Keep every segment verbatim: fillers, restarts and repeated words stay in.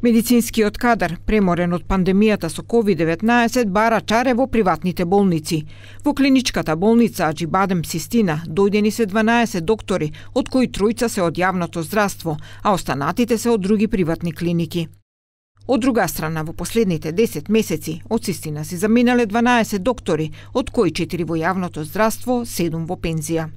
Медицинскиот кадар, преморен од пандемијата со ковид деветнаесет, бара чаре во приватните болници. Во клиничката болница Аџибадем Систина дојдени се дванаесет доктори, од кои тројца се од јавното здравство, а останатите се од други приватни клиники. Од друга страна, во последните десет месеци, од Систина си заминале дванаесет доктори, од кои четири во јавното здравство, седум во пензија.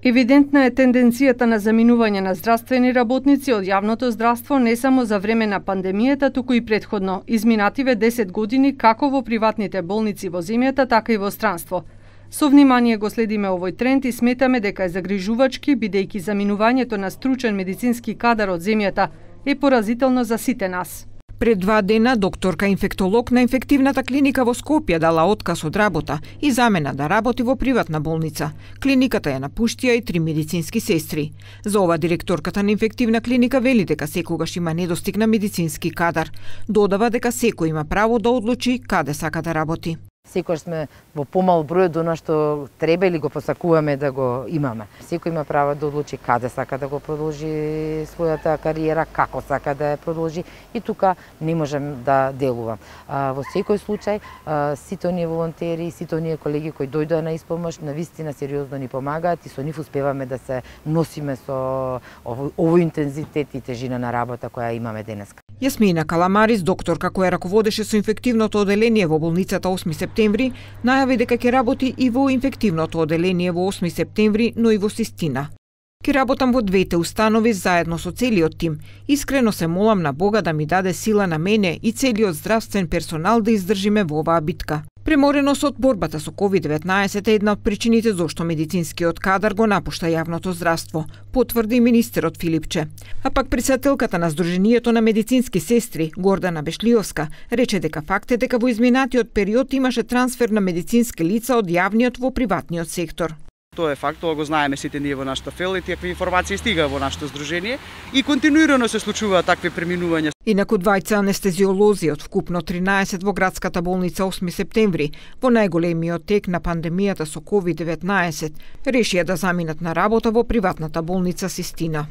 Евидентна е тенденцијата на заминување на здравствени работници од јавното здравство не само за време на пандемијата, туку и претходно, изминативе десет години како во приватните болници во земјата, така и во странство. Со внимание го следиме овој тренд и сметаме дека е загрижувачки, бидејќи заминувањето на стручен медицински кадар од земјата е поразително за сите нас. Пред два дена докторка инфектолог на инфективната клиника во Скопје дала отказ од работа и замена да работи во приватна болница. Клиниката ја напуштија и три медицински сестри. За ова директорката на инфективна клиника вели дека секогаш има недостиг на медицински кадар. Додава дека секој има право да одлучи каде сака да работи. Секој сме во помал број од она што треба или го посакуваме да го имаме. Секој има право да одлучи каде сака да го продолжи својата кариера, како сака да ја продолжи и тука не можем да делувам. Во секој случај, сите оние волонтери, сите оние колеги кои дојдоа на испомош, навистина сериозно ни помагаат и со нив успеваме да се носиме со овој интензитет и тежина на работа која имаме денеска. Јасмина Каламарис, докторка која раководеше со инфективното оделение во болницата осми септември, најави дека ќе работи и во инфективното оделение во осми септември, но и во Систина. Ке работам во двете установи заедно со целиот тим. Искрено се молам на Бога да ми даде сила на мене и целиот здравствен персонал да издржиме во оваа битка. Премореност од борбата со ковид деветнаесет е една од причините зошто медицинскиот кадар го напушта јавното здравство, потврди министерот Филипче. А пак председателката на Сдруженијето на медицински сестри, Гордана Бешлиовска, рече дека факт е дека во изминатиот период имаше трансфер на медицински лица од јавниот во приватниот сектор. Тоа е факт, тоа го знаеме сите ние во нашата фел и тие информации стигаа во нашето здружение и континуирано се случуваат такви преминувања. Инаку двајца анестезиолози од вкупно тринаесет во градската болница осми септември, во најголемиот тек на пандемијата со ковид деветнаесет, решија да заминат на работа во приватната болница Систина.